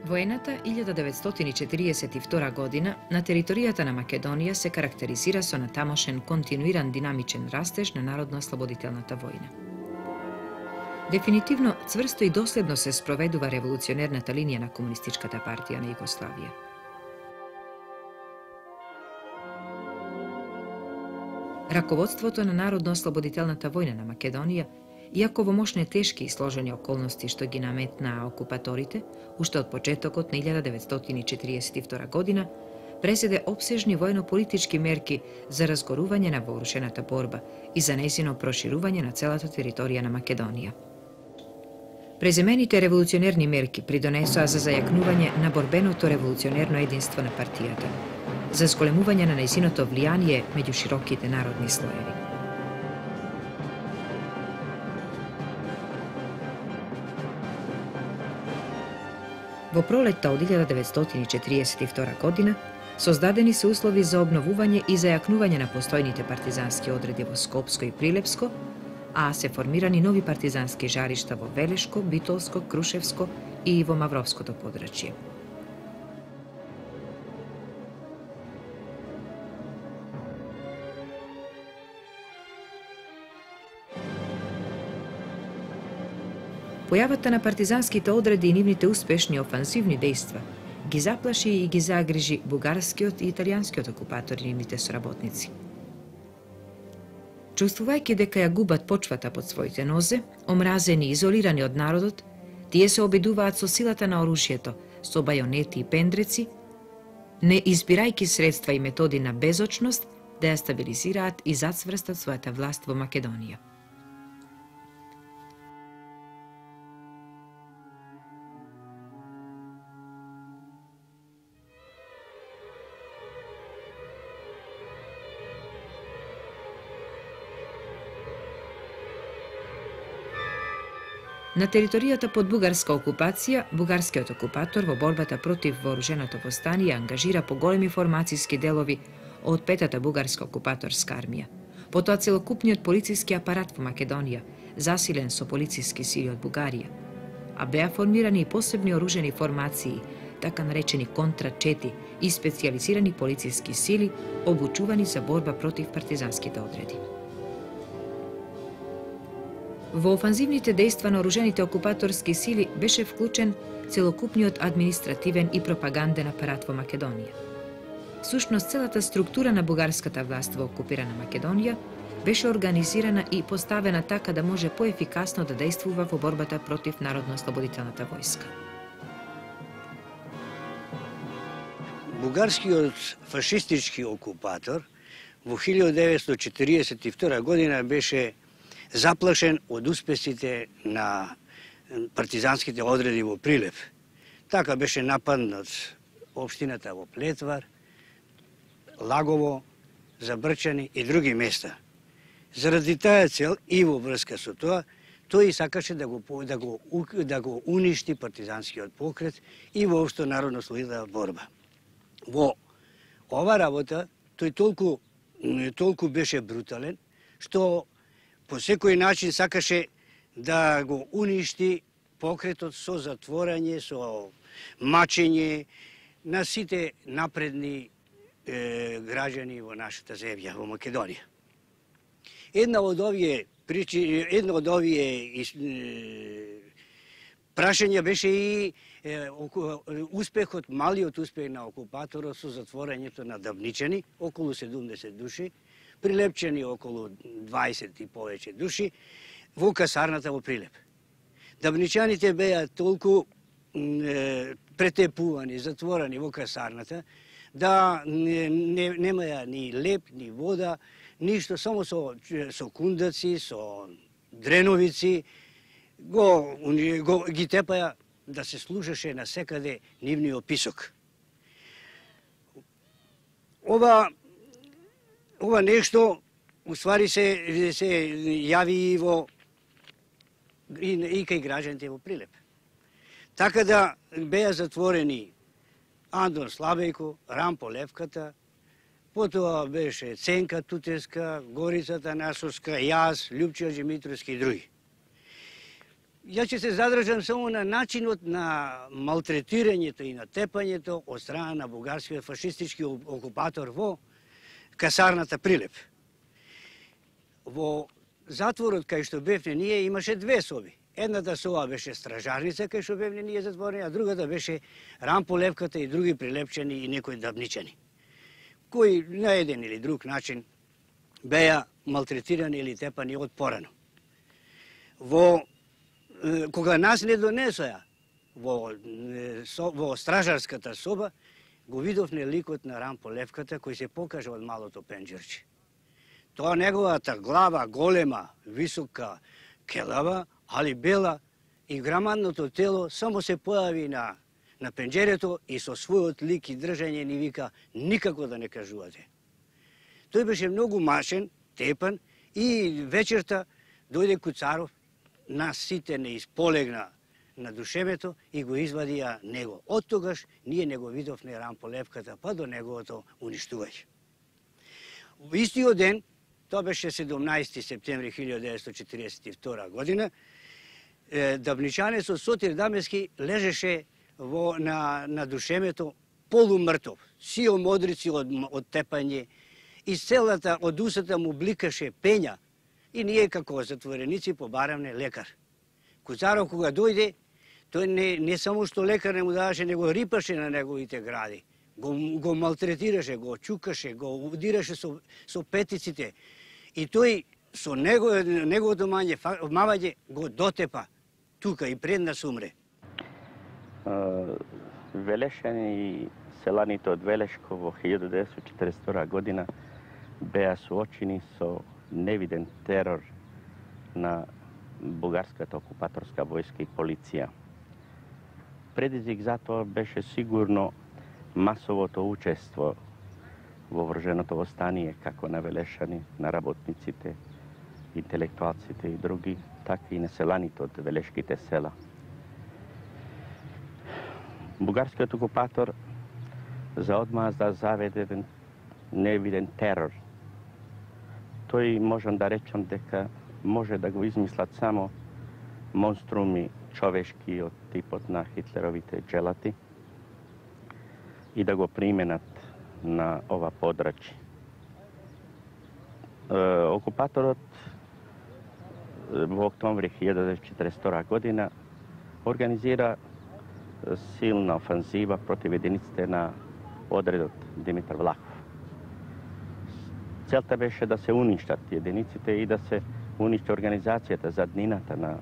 Воената 1942 година на територијата на Македонија се карактеризира со натамошен континуиран динамичен растеж на Народно-ослободителната војна. Дефинитивно, цврсто и доследно се спроведува револуционерната линија на Комунистичката партија на Југославија. Раководството на Народно-ослободителната војна на Македонија, иако во мошне тешки и сложени околности што ги наметнаа окупаторите, уште од почетокот на 1942 година, презеде опсежни војно-политички мерки за разгорување на вооружената борба и за нејзино проширување на целата територија на Македонија. Преземените револуционерни мерки придонесоа за зајакнување на борбеното револуционерно единство на партијата, за зголемување на нејзиното влијание меѓу широките народни слоеви. Во пролетта од 1942 година создадени се услови за обновување и зајакнување на постојните партизански одреди во Скопско и Прилепско, а се формирани нови партизански жаришта во Велешко, Битолско, Крушевско и во Мавровското подрачје. Појавата на партизанските одреди и нивните успешни офанзивни дејства ги заплаши и ги загрижи бугарскиот и италијанскиот окупатори и нивните соработници. Чувствувајќи дека ја губат почвата под своите нозе, омразени и изолирани од народот, тие се обидуваат со силата на оружјето, со бајонети и пендреци, не избирајќи средства и методи на безочност да ја стабилизираат и зацврстат својата власт во Македонија. На територијата под бугарска окупација, бугарскиот окупатор во борбата против вооруженото востание ангажира поголеми формацијски делови од петата бугарска окупаторска армија. Потоа целокупниот полициски апарат во Македонија, засилен со полициски сили од Бугарија, а беа формирани и посебни оружени формации, така наречени контра-чети и специјализирани полициски сили, обучувани за борба против партизанските одреди. Во офанзивните дејства на оружените окупаторски сили беше вклучен целокупниот административен и пропаганден апарат во Македонија. Всушност, целата структура на бугарската власт во окупирана Македонија беше организирана и поставена така да може поефикасно да дејствува во борбата против Народно-ослободителната војска. Бугарскиот фашистички окупатор во 1942 година беше заплашен од успесите на партизанските одреди во Прилеп. Така беше нападнат општината во Плетвар, Лагово, Забрчани и други места. Заради таа цел и во врска со тоа, тој сакаше да го уништи партизанскиот покрет и воопшто народно-ослободителна борба. Во ова работа тој толку беше брутален, што по секој начин сакаше да го уништи покретот со затворање, со мачење на сите напредни граѓани во нашата земја, во Македонија. Една од овие прашања беше и малиот успех на окупаторот со затворањето на Давничани, околу 70 души, Прилепчани околу 20 и повеќе души, во касарната во Прилеп. Давничаните беа толку претепувани, затворени во касарната, да немаја ни леп, ни вода, ништо, само со кундаци, со дреновици, ги тепаја да се слушаше на секаде нивниот писок. Ова нешто, уствари се јави и кај граѓаните во Прилеп. Така да беа затворени Андон Слабејко, Рампо Левката, потоа беше Ценка Тутеска, Горица Танасовска, јас, Љупчо Димитровски и други. Ја ќе се задржам само на начинот на малтретирањето и на тепањето од страна на бугарскиот фашистички окупатор во касарната Прилеп. Во затворот кај што бевне ние имаше две соби. Едната соба беше стражарница кај што бевне ние затворени, а другата беше рамполевката и други прилепчени и некои дабничани, кои на еден или друг начин беа малтретирани или тепани од порано. Кога нас не донесоа во стражарската соба, го видовме ликот на рамполевката кој се покажа од малото пенџерче. Тоа неговата глава голема, висока, келава, али бела, и грамадното тело само се појави на пенџерето и со својот лик и држање ни вика никако да не кажувате. Тој беше многу машен, тепан и вечерта дојде Куцаров, нас сите не исполегна на душемето и го извадија него. Од тогаш ние не го видовме рамполевката па до неговото уништување. Во истиот ден, тоа беше 17 септември 1942 година, дабничанецот Сотир Дамески лежеше на душемето полумртов, сио модрици од тепање, и целата од усата му бликаше пења и ние како затвореници побаравме лекар. Куцаров кога дојде, тој не само што лекар не му даваше, него рипаше на неговите гради, го малтретираше, го чукаше, го удираше со петиците и тој со неговото мавање го дотепа тука и пред нас умре. Велешани и селаните од Велешко во 1942 година беа суочени со невиден терор на бугарската окупаторска војска и полиција. Предизвик за тоа беше сигурно масовото учество во вооруженото востание, како на Велешани, на работниците, интелектуалците и други, така и на селаните од велешките села. Бугарскиот окупатор заодмазда заведе невиден терор. Тој можам да речам дека може да го измислат само монструми човешки од типот на Хитлеровите джелати и да го применат на ова подрачје. Окупаторот во октомври 1942 година организира силна офанзива против единиците на одредот Димитар Влахов. Целта беше да се уништат единиците и да се уништи организацијата заднината на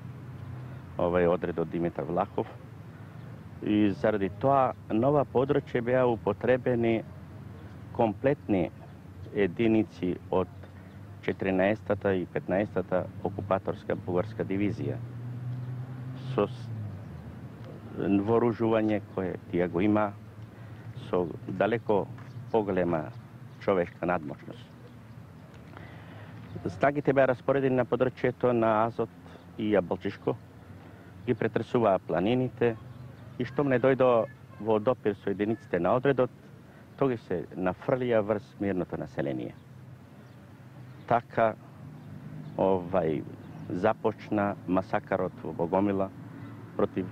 овој одред од Димитар Влахов. И заради тоа на ова подрачје беа употребени комплетни единици од 14-та и 15-та окупаторска бугарска дивизија со вооружување кое тие го има, со далеко поголема човешка надмошност. Снагите беа распоредени на подрачјето на Азот и Јаболчишко, ги претресуваа планините и штом не дојдо во допир со единиците на одредот, тоги се нафрлија врз мирното население. Така започна масакарот во Богомила против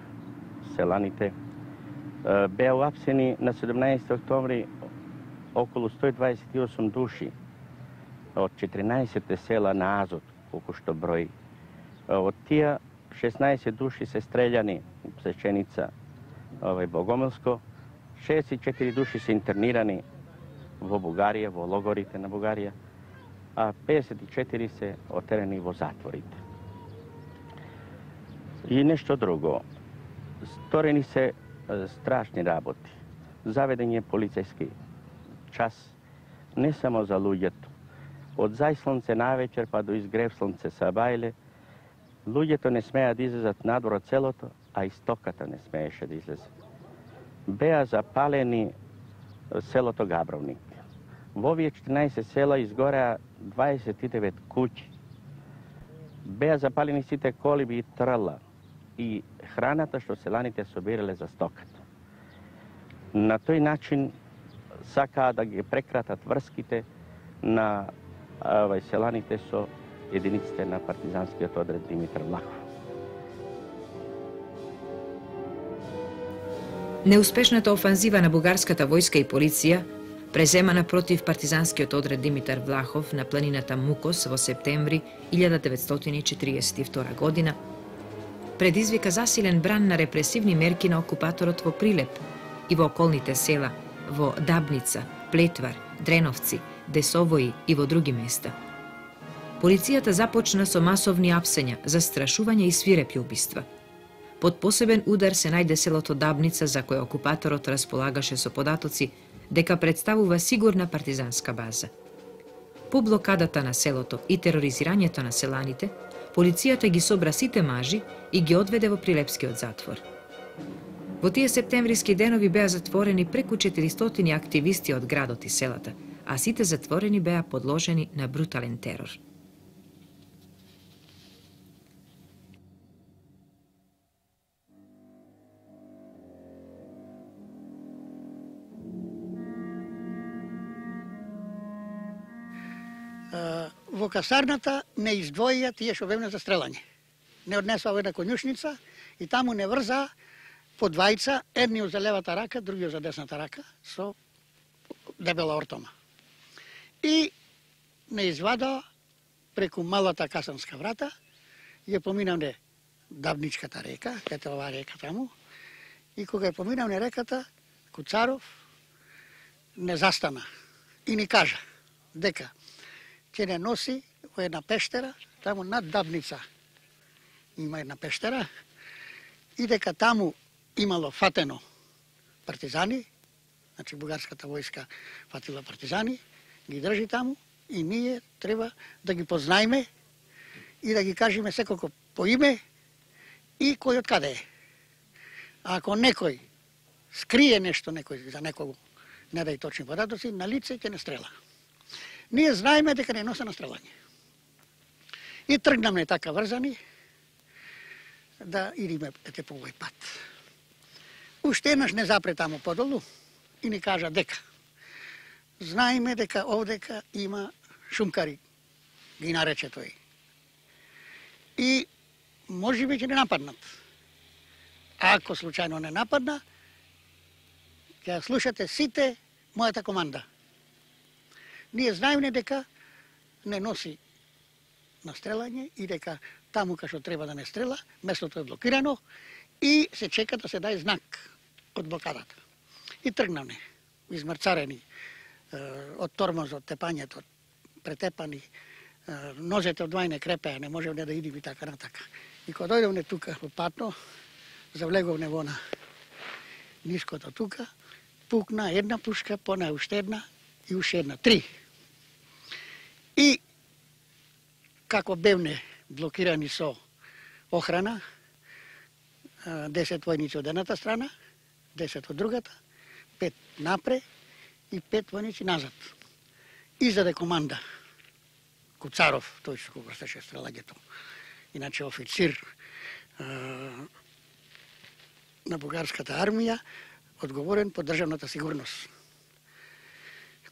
селаните. Беа уапсени на 17 октомври околу 128 души од 14 села на Азот, колку што брои. Од тие 16 души се стрељани у Псеченица, Богомилско, 64 души се интернирани во Бугарија, во логорите на Бугарија, а 54 се отерени во затворите. И нешто друго. Сторени се страшни работи. Заведен е полицајски час не само за луѓето. Од зајслонце навечер па до изгрев слонце сабајле, луѓето не смеа да излезат надвор целото, а и стоката не смееше да излезе. Беа запалени селото Габровник. Во овие 14 села изгореа 29 куќи. Беа запалени сите колиби и трла и храната што селаните собирале за стоката. На тој начин сакаа да ги прекратат врските на селаните со единиците на партизанскиот одред Димитар Влахов. Неуспешната офанзива на бугарската војска и полиција, преземана против партизанскиот одред Димитар Влахов на планината Мукос во септември 1942 година, предизвика засилен бран на репресивни мерки на окупаторот во Прилеп и во околните села, во Дабница, Плетвар, Дреновци, Десовои и во други места. Полицијата започна со масовни апсења, застрашување и свирепи убиства. Под посебен удар се најде селото Дабница, за кое окупаторот располагаше со податоци дека представува сигурна партизанска база. По блокадата на селото и тероризирањето на селаните, полицијата ги собра сите мажи и ги одведе во Прилепскиот затвор. Во тие септемвриски денови беа затворени преку 400 активисти од градот и селата, а сите затворени беа подложени на брутален терор. Во касарната не издвоија тие што бевме за стрелање. Не однесоа во една конјушница и таму не врза по двајца, едниот за левата рака, другиот за десната рака, со дебела ортома. И не извада преку малата касанска врата, ја поминавме Дабничката река, кај оваа река таму, и кога ја поминавме реката, Куцаров не застана и ни кажа дека ќе не носи во една пештера, таму над Дабница има една пештера, и дека таму имало фатено партизани, значи бугарската војска фатила партизани, ги држи таму и ние треба да ги познаеме и да ги кажеме секако по име и кој од каде е. А ако некој скрие нешто некој за некого, не дај точни податоци, на лице ќе не стрела. Ние знаеме дека не носе на стрелање. И тргнаме така врзани да идеме по овој пат. Уште еднаш не запре таму подолу и ни кажа дека знаеме дека овдека има шумкари, ги нарече тој. И можеби ќе не нападнат. Ако случајно не нападна, ќе слушате сите мојата команда. Ние знаеме дека не носи на стрелање и дека таму кај што треба да не стрела, местото е блокирано и се чека да се даде знак од блокадата. И тргнавме, измрцарени од тормозот, тепањето, претепани, ножете од двајне крепеа, не можевме да идеме така натака. И кога дојдовме тука во патно, завлеговме во на ниското тука, пукна една пушка, пона уште една и уште една, 3. И како бевне блокирани со охрана, 10 војници од едната страна, 10 од другата, 5 напре и 5 војници назад. Издаде команда Куцаров, тој што го врстеше стрелањето, иначе официр на бугарската армија, одговорен по државната сигурност.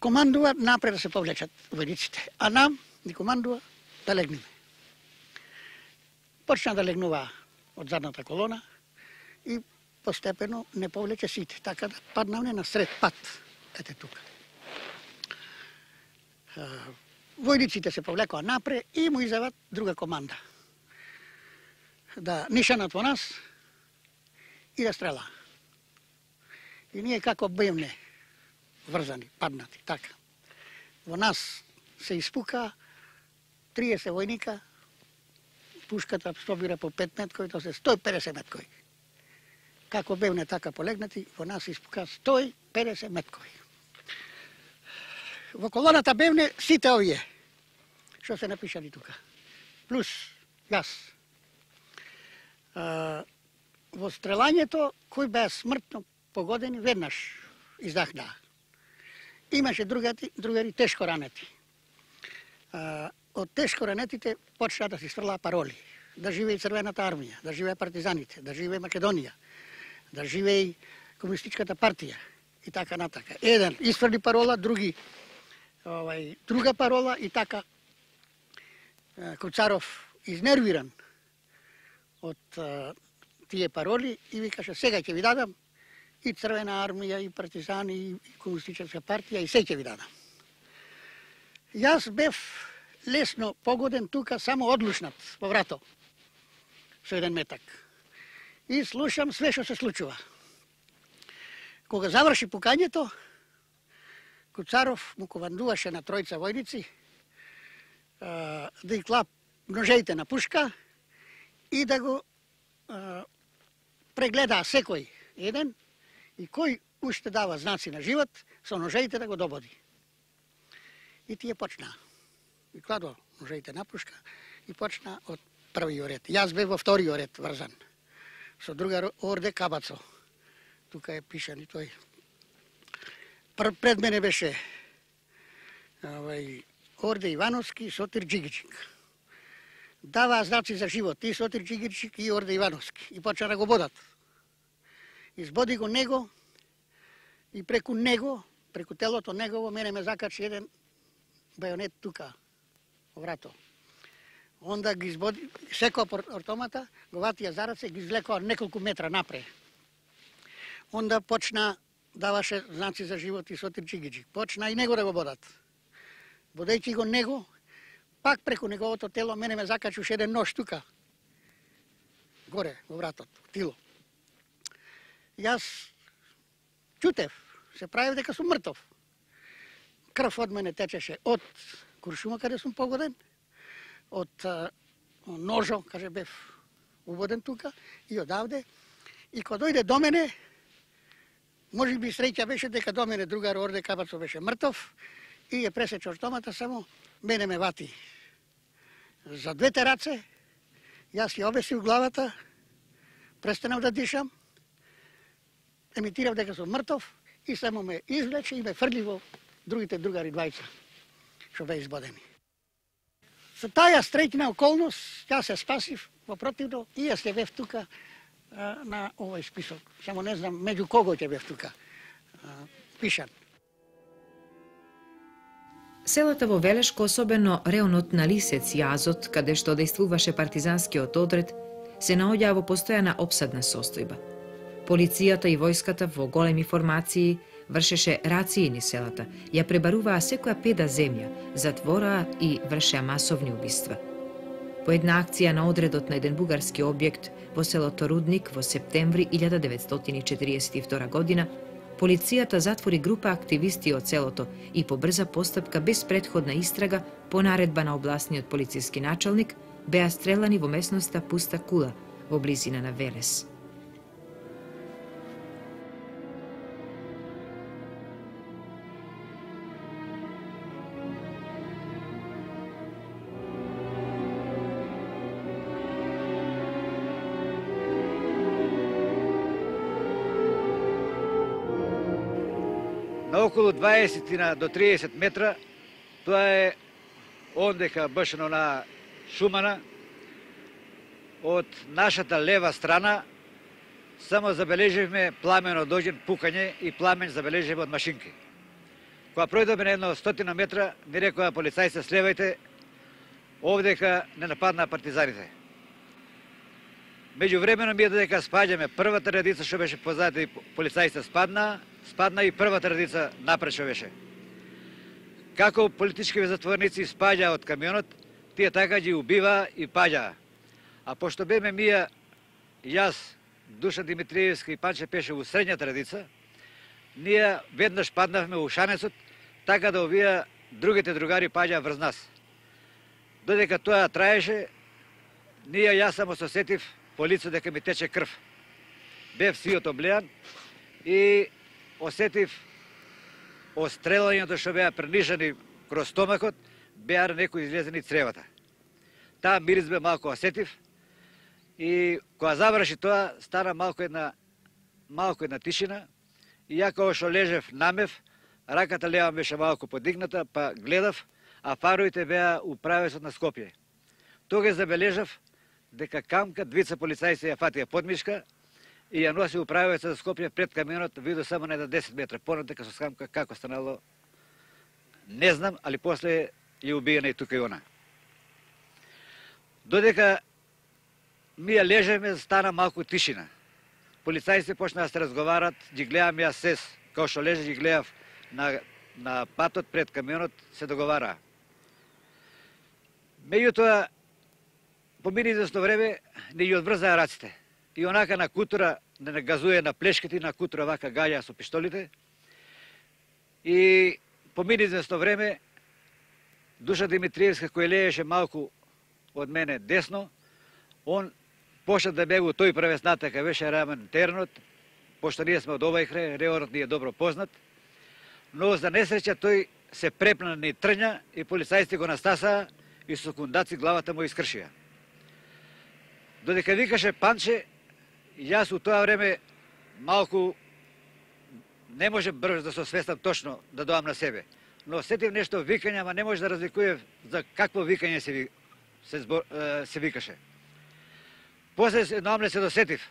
Командува напред да се повлечат војниците, а нам ни командува да легнеме. Почна да легнува од задната колона и постепено не повлече сите, така да паднавме на сред пат, ете тука. Војниците се повлекоа напред и му изјават друга команда. Да нишанат во нас и да стрела. И ние како бевме врзани, паднати, така. Во нас се испука 30 војника, пушката пробира по 5 меткои, тоа се 150 меткои. Како бевне така полегнати, во нас се испука 150 меткои. Во колоната бевне сите овие, што се напишани тука. Плюс јас. Во стрелањето, кои беа смртно погодени, веднаш издахнаа. Имаше другари тешко ранети. Од тешко ранетите почнаа да се сфрлаа пароли. Да живее Црвената армија, да живее партизаните, да живее Македонија, да живее Комунистичката партија и така натака. Еден изфрли парола, други друга парола и така Куцаров изнервиран од тие пароли и ви каже сега ќе ви дадам и Црвена армија, и партизани, и комунистичка партија, и се ќе ви дадам. Јас бев лесно погоден тука, само одлушнат во врато, со еден метак. И слушам све што се случува. Кога заврши пукањето, Куцаров му командуваше на тројца војници да ги клап ножеите на пушка и да го прегледаа секој еден и кој уште дава знаци на живот, со ножеите да го дободи. И тие почнаа. И кладо ножеите на пушка и почна од првиот ред. Јас бев во вториот ред врзан. Со другар Орде Кабацо. Тука е пишан и тој. Пред мене беше Орде Ивановски и Сотир Джигичик. Даваа знаци за живот и Сотир Джигичик и Орде Ивановски. И почна да го бодат. Избоди го него и преку него, преку телото негово, мене ме закачи еден бајонет тука, во врато. Онда ги избоди, секој автомата, го ватија за раце, ги извлекоа неколку метра напре. Онда почна, даваше знаци за живот и Сотир Джигичик. Почна и него да го бодат. Бодејќи го него, пак преку неговото тело, мене ме закачи уште еден нож тука, горе, во вратот, тило. Јас чутев, се правив дека сум мртов. Крв од мене течеше од куршума каде сум погоден, од ножо, каже бев убоден тука, и одавде. И кога дојде до мене, може би среќа беше дека до мене другар Орде Кабацо беше мртов и ја пресече автомата, само мене ме вати за двете раце, јас ја обесив главата, престанав да дишам, емитирав дека сум мртов и само ме извлече и ме фрли во другите другари двајца, што бе избодени. Со таја среќна околност, јас се спасив, во противно, и јас ќе бев тука на овој список. Само не знам меѓу кого ќе бев тука пишан. Селата во Велешко, особено реонот на Лисец, Јазот, каде што действуваше партизанскиот одред, се наоѓаа во постојана опсадна состојба. Полицијата и војската во големи формации вршеше рации низ селата, ја пребаруваа секоја педа земја, затвораа и вршеа масовни убиства. По една акција на одредот на еден бугарски објект во селото Рудник во септември 1942 година, полицијата затвори група активисти од селото и по брза постапка без претходна истрага по наредба на областниот полициски началник беа стрелани во местноста Пуста кула во близина на Велес. На околу 20 до 30 метра, тоа е ондека башено на шумана, од нашата лева страна само забележивме пламено дојден пукање и пламен забележивме од машинки. Кога пројдоме на едно 100 метра, ми рекоа полицајци слевајте, овдека не нападнаа партизаните. Меѓувремено ми е додека спаѓаме првата редица што беше позади полицајците спадна и првата редица напред што беше. Како политички затворници спаѓаа од камионот, тие така ги убиваа и паѓаа. А пошто беме мија, јас, Душан Димитриевски и Панче Пеше во средњата редица, ние веднаш паднавме во шанецот, така да овие другите другари паѓаа врз нас. Додека тоа траеше, јас само се сетив по лицо дека ми тече крв. Бев сиот облеан и осетив острелањето што беа пренишани кроз стомакот, беа некои излезени цревата. Таа мирис бе малку осетив и кога заврши тоа, стана малку една тишина и ја кога што лежев намев, раката лева беше малку подигната, па гледав, а фаровите беа у правецот на Скопје. Тога забележав дека камка двица полицајци ја фатија подмишка и ја носи у правецот за Скопје пред камионот, видо само на 10 метра. Понатака со скамка како станало, не знам, али после ја убиена и тука и она. Додека ми ја лежеме, стана малку тишина. полицајците почнаа да се разговарат, ги гледам јас сес, као што лежи ги гледав на патот пред камионот, се договараа. Меѓутоа, помини известно време, не ги одврзаа раците. И онака на кутура, не газуе на плешките, на кутура вака гаѓа со пиштолите. И помини известно време, Душа Димитриевска, кој лееше малку од мене десно, он почна да бегу тој правец натака, беше рамен тернот, пошто ние сме од овај крај, реорот ни е добро познат, но за несреќа тој се препна ни трња и полицајците го настасаа и со кундаци главата му искршија. Додека викаше Панче, јас у тоа време малку не може брзо да се освестам точно да доам на себе, но сетив нешто викање, ама не може да разликував за какво викање се викаше. После едноамле се досетив.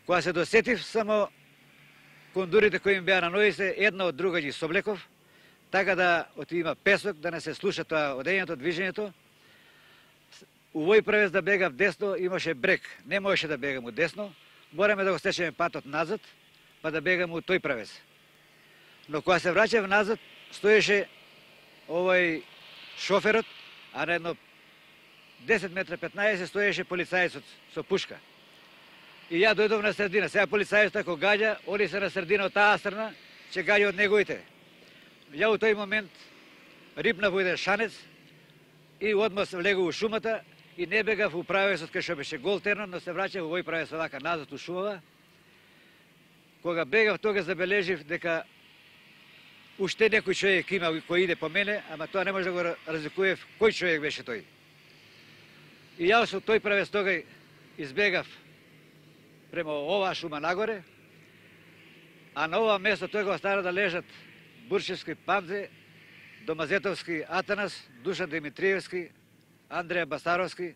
Кога се досетив, само кондурите кои им беа на ноите, една од друга ги соблеков, така да има песок, да не се слуша тоа одењето, движењето. Увој правец да бегав десно, имаше брег. Не можеше да бегам од десно, мораме да го стечеме патот назад, па да бегам од тој правец. Но кога се враќав назад, стоеше овој шоферот, а на едно 10 метра 15 стоеше полицајецот со пушка. И ја дојдов на средина. Сега полицајецот ако гаѓа, они се на средина од таа страна, ќе гаѓа од неговите. Ја у тој момент рипнав во еден шанец и одма се влегов у шумата и не бегав у правецот кај што беше гол тернот, но се враќав овој правец вака назад у шумава. Кога бегав, тога забележив дека уште некој човек има кој иде по мене, ама тоа не може да го разликував кој човек беше тој. И јас со тој правец тогај избегав према оваа шума нагоре, а на ова место тој го остана да лежат Буршевски Памзе, Домазетовски Атанас, Душа Димитриевски, Андреја Басаровски,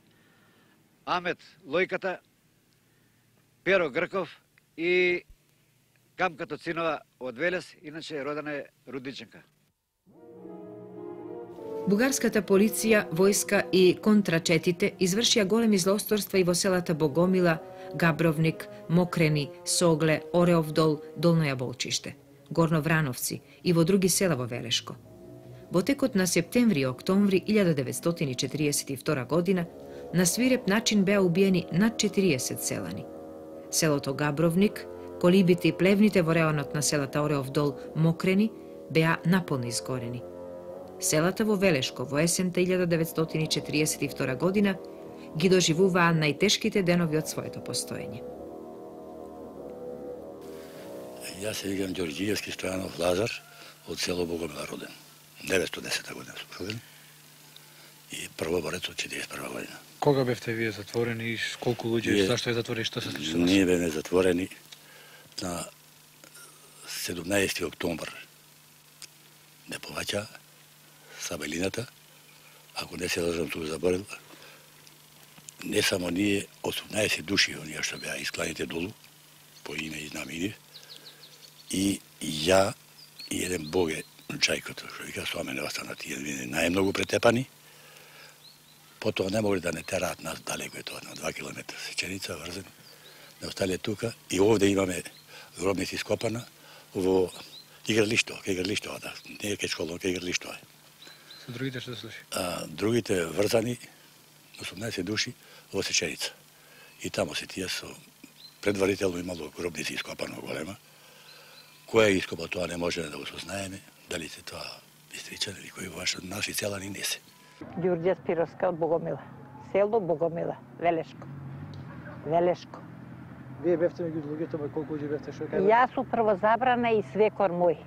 Амет Лојката, Перо Грков и Камка Тоцинова од Велес, иначе родена е Рудниченка. Бугарската полиција, војска и контрачетите извршија големи злосторства и во селата Богомила, Габровник, Мокрени, Согле, Ореовдол, Долно Јаболчиште, Горно Врановци и во други села во Велешко. Во текот на септември и октомври 1942 година на свиреп начин беа убиени над 40 селани. Селото Габровник, колибите и плевните во реонот на селата Ореовдол, Мокрени беа наполно изгорени. Селата во Велешко во есента 1942 година ги доживуваа најтешките денови од своето постоење. Јас се викам Ѓорѓиевски Стојанов Лазар, од село Богомила роден. 910 година сум роден и првоборец од 41 година. Кога бевте вие затворени и колку луѓе, зашто е затворени, што се случило? Ние бевме затворени на 17 октомбр. Не поваќа Сабелината, ако не се лажам, тук заборил, не само ние, 18 души, оние што беа искланите долу, по име и знамени, и ја и еден боге, Чајкото, што вика, со мене остана тие најмногу претепани, потоа не могли да не тераат нас далеко, е тоа, на 2 километра сеченица, врзен, не остале тука, и овде имаме гробници скопана, во игралишто, кај игралишто, да, не е кај школа, кај игралишто е. Со другите што се случи? Другите врзани, 18 души, во сеченица. И тамо се тие со предварително имало гробници ископано голема. Кој е ископал тоа не може да го сознаеме, дали се тоа Бистричани или кој ваш наши селани не се. Ѓурѓа Спировска од Богомила. Село Богомила, Велешко. Велешко. Вие бевте меѓу луѓето, ма колку луѓе бевте, што кажа? Јас сум првозабрана и свекор мој.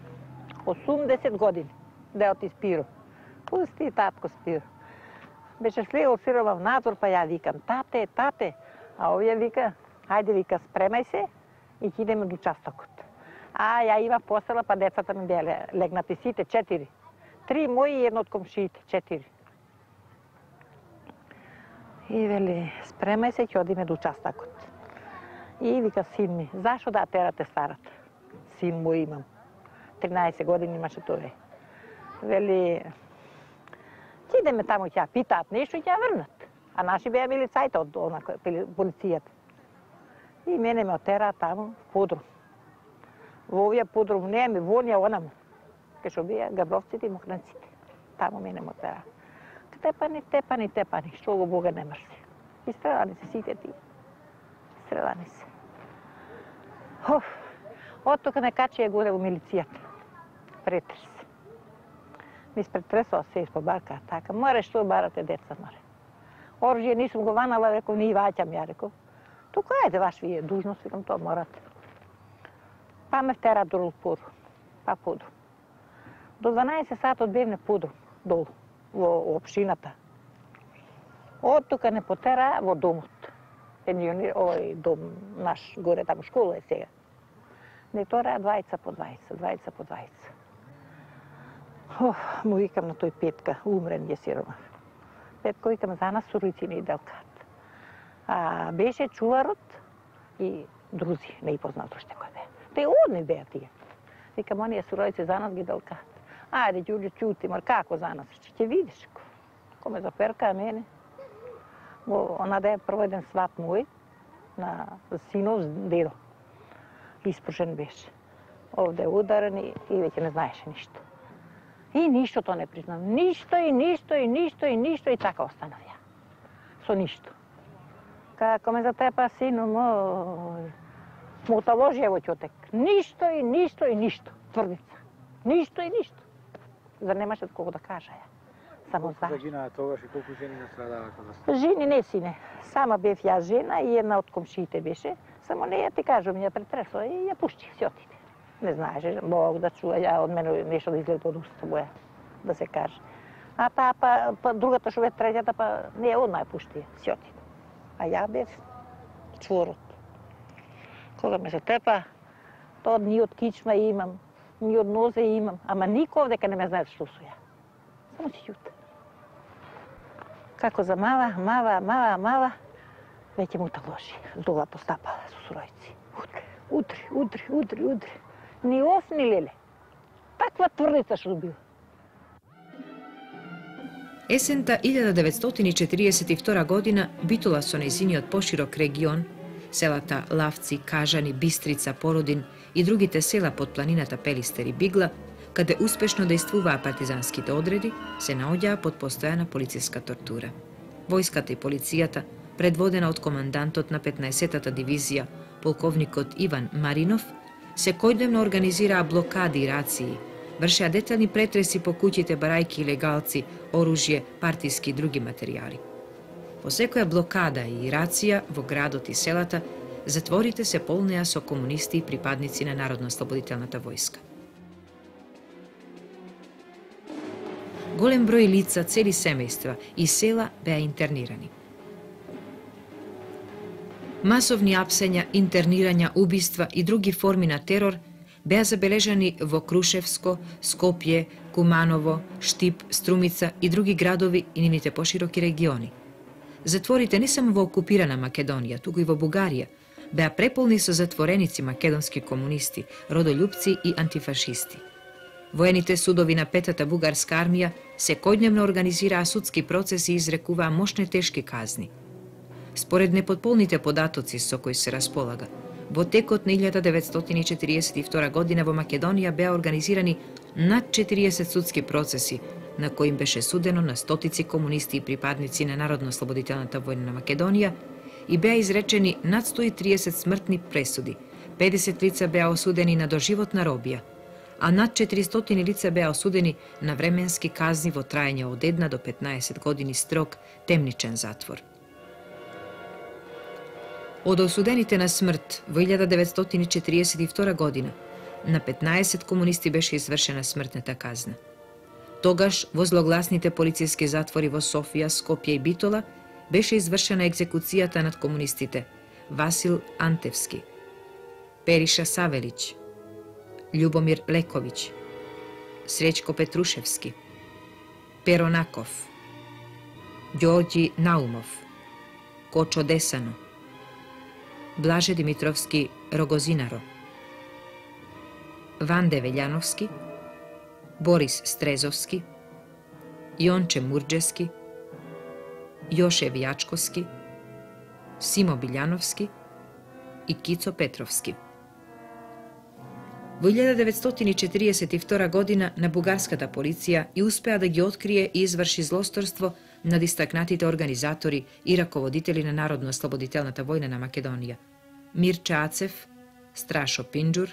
80 години, да оти Спиро. Пусти татко Спиро. Беше слегол сирова в надвор, па ја викам, тате, тате. А овие вика, ајде вика, спремај се и ќе идеме до участокот. А ја има посела, па децата ми беа легнати сите, 4. 3 мои и едно од комшиите, 4. И вели, спремај се, ќе одиме до участокот. И вика, син ми, зашо да терате старата? Син мој имам. 13 години имаше тој. Вели, ќе идеме таму, ќе питаат нешто и ќе ја врнат. А наши беа милицајте од полицијата. И мене ме отера таму в подрум. Во овија подрум не ми вонја онаму. Кај што бија габровците и мокранците. Таму мене ме отера. Тепани, што го Бога не мрси. И стрелани се сите ти. Стрелани се. Од тука ме качија горе во милицијата. Претрес. Ми спретресала се испобарка, така. Море што барате деца, море. Оружје нисум го ванала, реков, не и ваќам, ја реков. Тука ајде ваш вие дужност, викам, тоа морате. Па ме втера долу подрум. Па подрум. До 12 сатот бевме подрум, долу, во општината. Од тука не потера во домот. Пензионер, овој дом наш, горе таму школа е сега. Не тора 20 по 20. Му викам на тој Петка, умрен je сиромах. Петко викам за нас суројци не иделкат. А беше чуварот и друзи, не и познат уште кој бе. Те одни беа тие. Викам, оние суројци за нас ги делкат. Ајде, Ѓуѓо, чути, мар како за нас? Ќе видиш. Ко ме заперка мене. Она да е проведен сват мој на синов дедо. Испрушен беше. Овде ударен и веќе не знаеше ништо. И ништото не признам. Ништо и така останав ја. Со ништо. Како ме затепа сину мој, му таложија во ќотек. Ништо. Тврдица. Ништо. Зар немаше колку да кажа ја. Само за. Колку загинаа тогаш и колку жени настрадаа кога сте? Жени не сине. Сама бев ја жена и една од комшиите беше. Само не ја ти кажам, ја претресла и ја пушти, си отиде. Не знаеше, Бог да чува, ја од мене нешто да излезе од уста моја, да се каже. А таа па другата што бе третјата, па не одма ја пушти, си отиде. А ја бев чворот. Кога ме се тепа, тоа ни од кичма имам, ни од нозе имам, ама никој овдека не ме знае што су ја. Само си љута. Како замава, веќе му таложи. Зола постапала со суројци. Удри. Ни оф, ни леле. Таква тврдица што била. Есента 1942 година Битола со нејзиниот поширок регион, селата Лавци, Кажани, Бистрица, Породин и другите села под планината Пелистер и Бигла, каде успешно дејствуваа партизанските одреди, се наоѓаа под постојана полициска тортура. Војската и полицијата, предводена од командантот на 15-та дивизија, полковникот Иван Маринов, секојдневно организираа блокади и рации, вршеа детални претреси по куќите, барајки и легалци, оружје, партиски и други материјали. По секоја блокада и рација во градот и селата, затворите се полнеа со комунисти и припадници на Народно-ослободителната војска. Голем број лица, цели семејства и села беа интернирани. Масовни апсења, интернирања, убиства и други форми на терор беа забележани во Крушевско, Скопје, Куманово, Штип, Струмица и други градови и нивните пошироки региони. Затворите не само во окупирана Македонија, туку и во Бугарија, беа преполни со затвореници македонски комунисти, родолюбци и антифашисти. Воените судови на Петата бугарска армија секојдневно организираа судски процеси и изрекуваа мощни тешки казни. Според непотполните податоци со кои се располага, во текот на 1942 година во Македонија беа организирани над 40 судски процеси, на кои им беше судено на стотици комунисти и припадници на Народно-ослободителната војна на Македонија и беа изречени над 130 смртни пресуди, 50 лица беа осудени на доживотна робија, а над 400 лица беа осудени на временски казни во траење од 1 до 15 години строг темничен затвор. Од осудените на смрт во 1942 година на 15 комунисти беше извршена смртната казна. Тогаш во злогласните полициски затвори во Софија, Скопје и Битола беше извршена екзекуцијата над комунистите Васил Антевски, Периша Савелиќ, Љубомир Лековиќ, Среќко Петрушевски, Перо Наков, Ѓорѓи Наумов, Кочо Десано, Блаже Димитровски Рогозинаро, Ванде Велјановски, Борис Стрезовски, Јонче Мурџески, Јоше Вијачковски, Симо Билјановски и Кицо Петровски. Во 1942 година на бугарската полиција и успеа да ги открие и изврши злосторство над истакнатите организатори и раководители на Народно-ослободителната војна на Македонија: Мирча Ацев, Страшо Пинџур,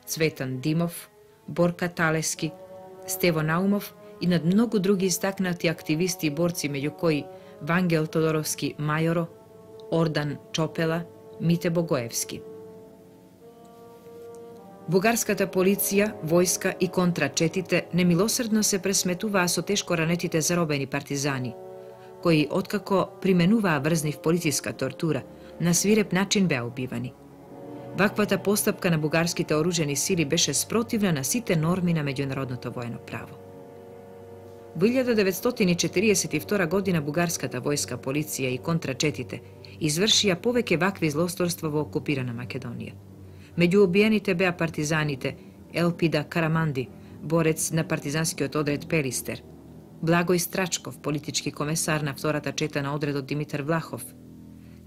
Цветан Димов, Борка Талески, Стево Наумов и над многу други истакнати активисти и борци, меѓу кои Вангел Тодоровски Мајоро, Ордан Чопела, Мите Богоевски. Бугарската полиција, војска и контрачетите немилосредно се пресметуваа со тешко ранетите заробени партизани, кои, откако применуваа врзнив полициска тортура, на свиреп начин беа убивани. Ваквата постапка на бугарските оружени сили беше спротивна на сите норми на меѓународното воено право. Во 1942 година бугарската војска, полиција и контрачетите извршија повеќе вакви злосторства во окупирана Македонија. Меѓу убиените беа партизаните Елпида Караманди, борец на партизанскиот одред Пелистер, Благој Страчков, политички комесар на втората чета на одредот Димитар Влахов,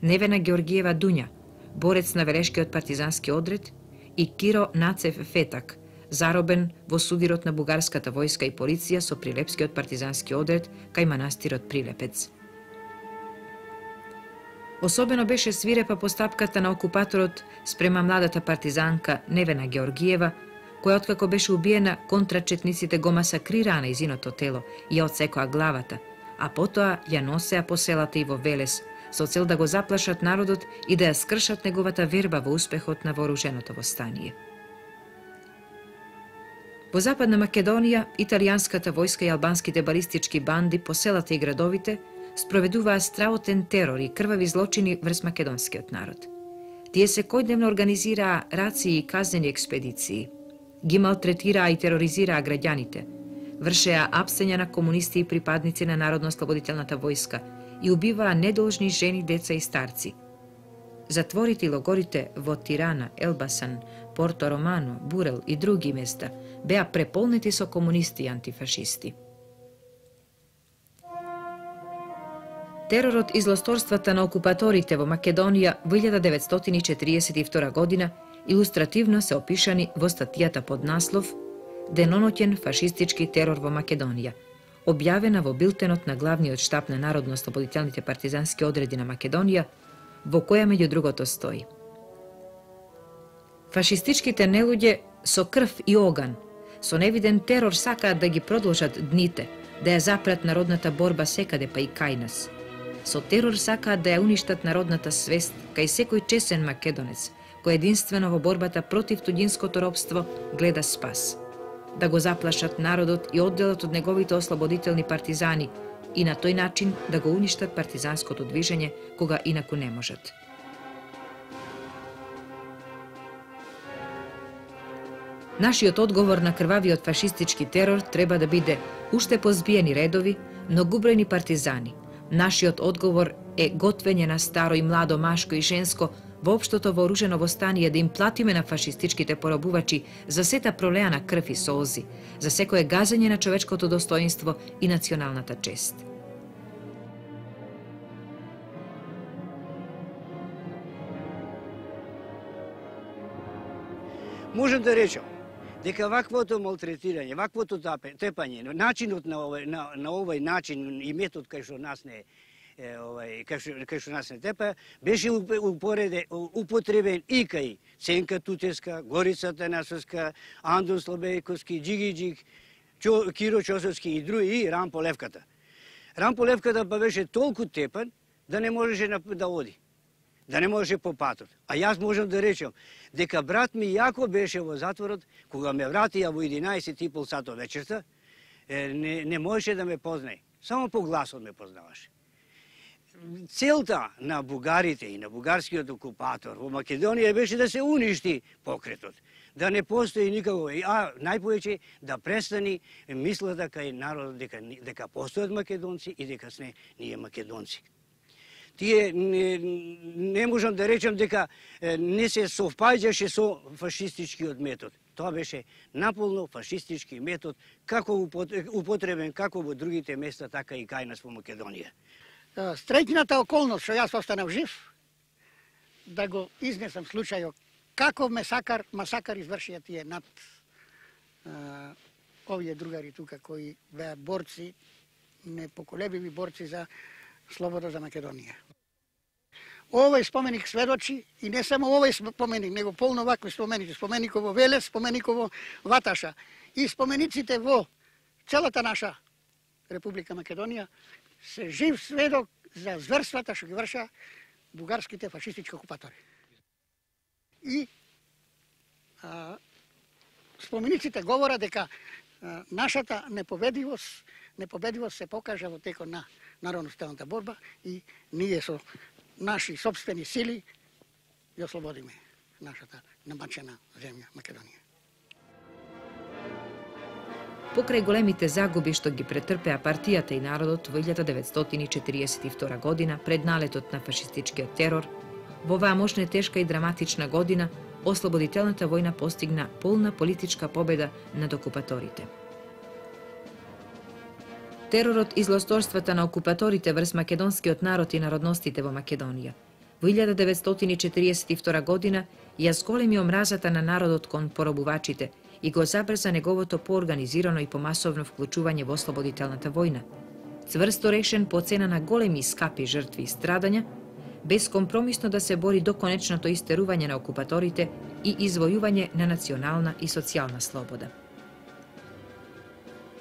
Невена Георгиева Дуња, борец на Велешкиот партизански одред, и Киро Нацев Фетак, заробен во судирот на бугарската војска и полиција со Прилепскиот партизански одред кај манастирот Прилепец. Особено беше свирепа постапката на окупаторот спрема младата партизанка Невена Георгиева, која откако беше убиена, контрачетниците го масакрираа на изиното тело и ја отсекоа главата, а потоа ја носеа по селата и во Велес, со цел да го заплашат народот и да ја скршат неговата верба во успехот на вооруженото восстание. Во Западна Македонија, италијанската војска и албанските балистички банди по селата и градовите спроведуваа страотен терор и крвави злочини врз македонскиот народ. Тие секојдневно организираа рации и казнени експедиции, ги малтретираа и тероризираа граѓаните, вршеа апсења на комунисти и припадници на Народно-ослободителната војска и убиваа недолжни жени, деца и старци. Затворите и логорите во Тирана, Елбасан, Порто Романо, Бурел и други места беа преполнети со комунисти и антифашисти. Теророт и злосторствата на окупаторите во Македонија во 1942 година илустративно се опишани во статијата под наслов «Деноноќен фашистички терор во Македонија», објавена во билтенот на главниот штаб на Народно-ослободителните партизански одреди на Македонија, во која меѓу другото стои: фашистичките нелуѓе со крв и оган, со невиден терор сакаат да ги продолжат дните, да ја запрат народната борба секаде, па и кај нас. Со терор сакаат да ја уништат народната свест кај секој чесен македонец, кој единствено во борбата против туѓинското робство гледа спас. Да го заплашат народот и одделот од неговите ослободителни партизани и на тој начин да го уништат партизанското движење кога инаку не можат. Нашиот одговор на крвавиот фашистички терор треба да биде уште позбиени редови, многубројни партизани. Нашиот одговор е готвење на старо и младо, машко и женско во општото вооружено восстание, да им платиме на фашистичките поробувачи за сета пролеана крв и солзи, за секое газење на човечкото достоинство и националната чест. Можем да речем дека ваквото малтретирање, ваквото тепање, начинот на овој начин и метод кај што нас не кај што нас не тепа, беше употребен и кај Ценка Тутеска, Горица Танасовска, Андон Слобејковски, Джигиджик, Киро Чосовски и други, и Рампо Левката. Рампо Левката па беше толку тепан да не можеше да оди, да не можеше по патот. А јас можам да речем дека брат ми јако беше во затворот, кога ме вратија во 11:30 сато вечерта, не можеше да ме познае. Само по гласот ме познаваше. Целта на бугарите и на бугарскиот окупатор во Македонија беше да се уништи покретот, да не постои никако, а најповеќе да престани мислата кај народот дека постојат македонци и дека сме ние македонци. Тие не можам да речем дека не се совпаѓаше со фашистичкиот метод. Тоа беше наполно фашистички метод, како употребен како во другите места, така и кај нас во Македонија. Среќната околност што јас останав жив, да го изнесам случајот како масакар извршија тие над овие другари тука кои беа борци, непоколебиви борци за слобода за Македонија. Овој споменик сведочи, и не само овој споменик, него полно вакви споменици, споменикот во Велес, споменикот во Ваташа и спомениците во целата наша Република Македонија се жив сведок за зверствата што ги врша бугарските фашистички окупатори. И спомениците говорат дека нашата непобедивост се покажа во текот на народно-ослободителната борба и ние со наши собствени сили ја ослободиме нашата намачена земја Македонија. Покрај големите загуби што ги претрпеа партијата и народот во 1942 година пред налетот на фашистичкиот терор, во оваа мощна, тешка и драматична година ослободителната војна постигна полна политичка победа над окупаторите. Теророт и злосторствата на окупаторите врз македонскиот народ и народностите во Македонија во 1942 година ја зголеми омразата на народот кон поробувачите и го забрза неговото поорганизирано и помасовно вклучување во ослободителната војна, цврсто решен по цена на големи и скапи жртви и страдања, безкомпромисно да се бори до конечното истерување на окупаторите и извојување на национална и социјална слобода.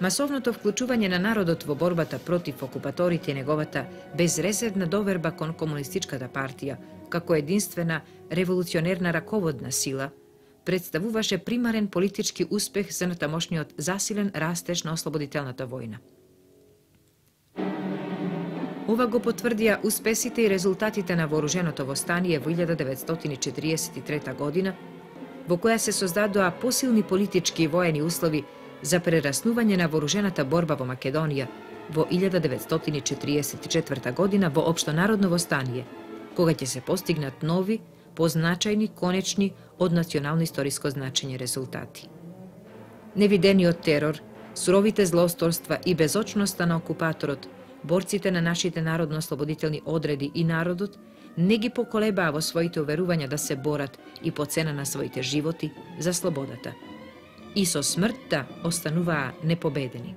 Масовното вклучување на народот во борбата против окупаторите и неговата безрезервна доверба кон комунистичката партија, како единствена револуционерна раководна сила, представуваше примарен политички успех за натамошниот засилен растеж на ослободителната војна. Ова го потврдија успесите и резултатите на вооруженото востание во 1943 година, во која се создадоа посилни политички и воени услови за прераснување на вооружената борба во Македонија во 1944 година во општонародно востание, кога ќе се постигнат нови, позначајни, конечни, од национално историско значење резултати. Невидениот терор, суровите злосторства и безочноста на окупаторот, борците на нашите народно-ослободителни одреди и народот не ги поколебаа во своите уверувања да се борат и по цена на своите животи за слободата. И со смртта остануваа непобедени.